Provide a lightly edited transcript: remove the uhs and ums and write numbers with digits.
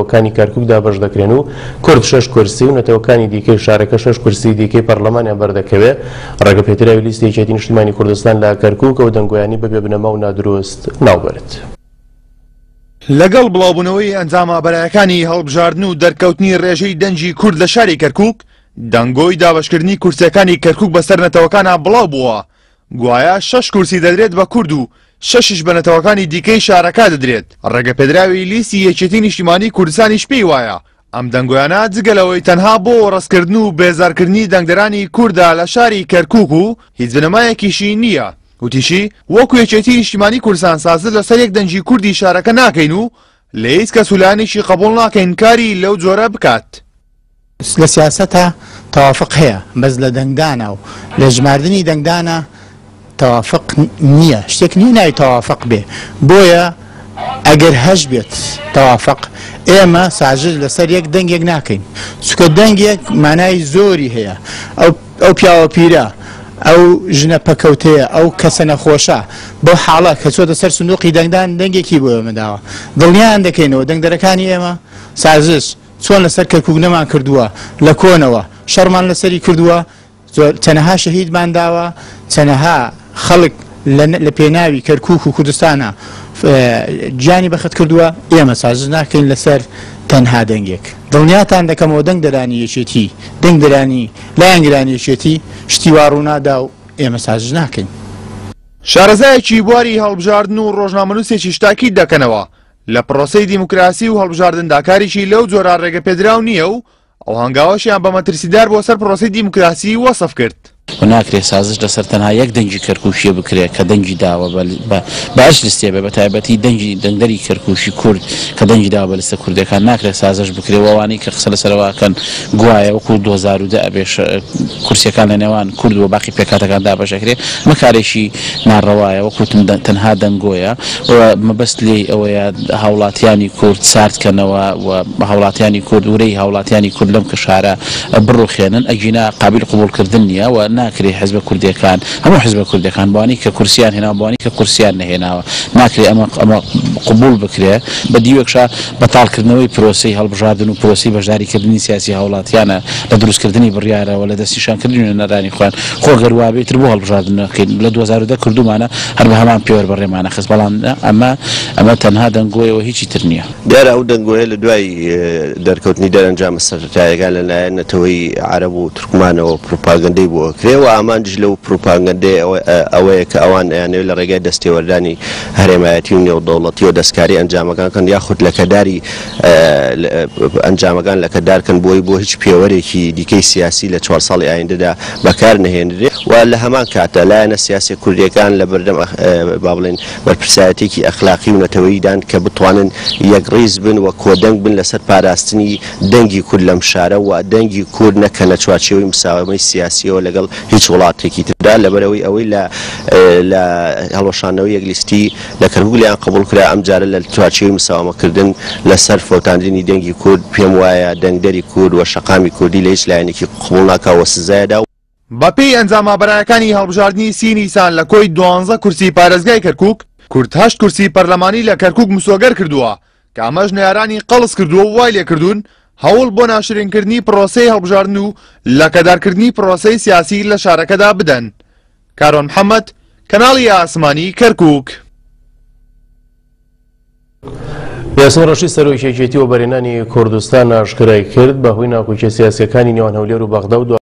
نەتەوەکانی کەرکوک دابەش دەکرێن و کورد شەش کورسی و نەتەوەکانی دیکەی شارەکە شەش کورسی دیکەی پەرلەمانیان بەردەکەوێ. ڕێگەپێدراوی لیستی یەکێتی نیشتیمانی کوردستان لە کەرکوک ئەو دەنگۆیانەی بە بێبنەما و نادروست ناوبرد. لەگەڵ بڵاوبوونەوەی ئەنجامە بەرایەکانی هەڵبژاردن و دەرکەوتنی ڕێژەی دەنگی کورد لە شاری کەرکوک، دەنگۆی دابەشکردنی کورسیەکانی کەرکوک بەسەر نەتەوەکانا بڵاو بووە، گوایە شەش کورسی دەدرێت بە کورد و شەشیش بە نەتەوەکانی دیکەی شارەکە دەدرێت. ڕێگەپێدراوی لیستی یەکێتی نیشتیمانی کوردستانیش پێی وایە ئەم دەنگۆیانە جگە لەوەی تەنها بۆ وەڕسکردن و بێزارکردنی دەنگدەرانی کوردە لە شاری کەرکوک و هیچ بنەمایەکیشی نییە. وتیشی، وەکو یەکێتی نیشتیمانی کوردستان سازش لەسەر یەک دەنگی کوردی شارەکە ناکەین و لە هیچ کەس و لایەنێکی قبوڵ ناکەین کاری لەو جۆرە بکات. لە سیاسەتا تەوافق هەیە بەس لە دەنگدانا و لە ژماردنی دەنگدانا تەوافق نییە شتێک نییە ناوی تەوافق بێ بۆیە ئەگەر هەش بێت تەوافق ئێمە سازش لەسەر یەک دەنگێک ناکەین چونکە دەنگێک مانای زۆری هەیە ئەو ئەو پیاوە پیرە ئەو ژنە پەکەوتەیە ئەو کەسە نەخۆشە بەو حاڵە کە چۆتە سەر سندوقی دەنگدان دەنگێکی بۆ ئێمە داوە دڵنیایان دەکەینەوە دەنگدەرەکانی ئێمە سازش چۆن لەسەر کەرکوک نەمان کردووە لە کۆنەوە شەڕمان لەسەری کردووە زۆر چەنەها شەهیدمان داوە چەنەها خەڵک لە پێناوی کەرکوک و کوردستانە گیانی بەخت کردووە ئێمە سازش ناکەین لەسەر تەنها دەنگێک دڵنیاتان دەکەمەوە دەنگ دەرانی یەکێتی دەنگ دەرانی لایەنگرانی یەکێتی شتی وا ڕوونادا و ئێمە سازش ناکەین. شارەزایەکی بواری هەڵبژاردن و ڕۆژنامەنووسێکیش تاکید دەکەنەوە لە پرۆسەی دیموکراسی و هەڵبژاردندا کارێکی لەو جۆرە ڕێگەپێدراو نییە و ئەو هەنگاوەشیان بە مەترسیدار بۆ سەر پرۆسەی دیموکراسی وەسف کرد. و ناکرێت سازش لەسەر تەنها یەک دەنگی کەرکوکیە بکرێت کە دەنگی داوە بە بە هەچ لستێ بێ بە تایبەتی دەنگی دەنگدەری کەرکوکی کورد کە دەنگی داوە بە لستە کوردیەکان ناکرێت سازش بکرێت و ئەوانەی کە قسە لەسەرەوە ئەکەن گوایە وەکو 2010 ئەبێ کورسیەکان لە نێوان کورد و باقی پێکهاتەکان دابەش ئەکرێ ئەمە کارێکی ناڕەوایە وەک وتم تەنها دەنگۆیە و مەبەست لێی ئەوەیە هاوڵاتیانی کورد سارد کەنەوە و هاوڵاتیانی کورد ورەی هاوڵاتیانی کورد لەم کەشارە بڕوخێنن ئەگینا قابیل قبوڵ کردن نیە و ناکرێ حزبە کوردیەکان هەموو حزبە کوردیەکان بەوانەی کە کورسیان هێناوە بەوانەی کە کورسیان نەهێناوە ناکرێ ئەمە ئەمە قبوڵ بکرێ بە دیوێکشا بەتاڵ کردنەوەی پرۆسەی هەڵبژاردن و پرۆسەی بەشداری کردنی سیاسی هاوڵاتیانە لە دروست کردنی بڕیارەوە لە دەستنیشان کردنی نوێنەرانی خۆیان خۆ گەر وابێ ئیتر بۆ هەڵبژاردن نەکەین لە 2010 کردوومانە هەر بە هەمان پێوەر بەڕێمانە خست بەڵام نا ئەمە ئەمە تەنها دەنگۆیە و هیچی تر نییە. دیارە ئەو دەنگۆیە لە دوای دەرکەوتنی دەرەنجامە سەرەتایەکان لە لایەن نەتەوەی عەرەب و تورکمانەوە پروپاگەندەی بۆ ئەکرێ و ئامانجیش لەو پروپاگەندەیە ئەوەیە کە ئەوان ئەیانەوێت لە ڕێگای دەستێوەردانی هەرێمایەتی و نێودەوڵەتیەوە دەستکاری ئەنجامەکان کەن یاخود لەکەداری ئەنجامەکان لەکەدار کەن بۆی بۆ هیچ پێوەرێکی دیکەی سیاسی لە چوار ساڵی ئایندەدا بەکار نەهێنرێ و لە هەمان کاتدا لایەنە سیاسیە کوردیەکان لە بەردەم با بڵێین بەرپرسایەتیەکی ئەخلاقی و نەتەوەییدان کە بتوانن یەکڕیز بن و کۆدەنگ بن لەسەر پاراستنی دەنگی کورد لەم شارە و دەنگی کورد نەکەنە چوارچێوەی مساوەمەی سیاسیەوە لەگەڵ هیچ وڵاتێکی تردا لەبەرئەوەی ئەوەی لە لە هەڵوەشاندنەوەی یەک لیستی لە کەرکوک لێیان قبوڵ کرا ئەمجارە لە چوارچێوەی مساوەمەکردن لەسەر فەوتاندنی دەنگی کورد پێم وایە دەنگدەری کورد و شەقامی کوردی لە هیچ لایەنێکی قبوڵ ناکا و سزایەدا. بەپێی ئەنجامە بەرایەکانی هەڵبژاردنی سی نیسان لە کۆی دوانزە کورسی پارێزگای کەرکوک، کورد هەشت کورسی پەرلەمانی لە کەرکوک مسۆگەر کردووە کە ئەمەش نەیارانی قەڵس کردووە و وای لێکردوون هەوڵ بۆ ناشرینکردنی پرۆسەی هەڵبژاردن و لەکەدارکردنی پرۆسەی سیاسی لە شارەکەدا بدەن. کاروان محەمەد، کەناڵی ئاسمانی کەرکوک. یاسین ڕەشید سەرۆکی یەکێتی وەبەرهێنانی کوردستان ئاشکرای کرد، بەهۆی ناکۆکیە سیاسیەکانی نێوان هەولێر و بەغدا و.